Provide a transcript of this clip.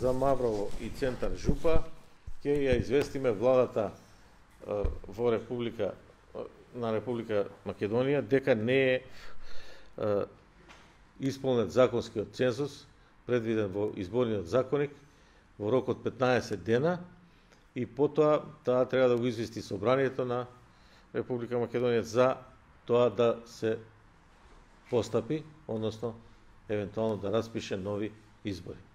за Маврово и Центар Жупа, ќе ја известиме владата во Република Македонија дека не е исполнет законскиот цензус предвиден во изборниот законник во рок од 15 дена и потоа таа треба да го извести собранието на Република Македонија за тоа да се постапи, односно евентуално да распише нови избори.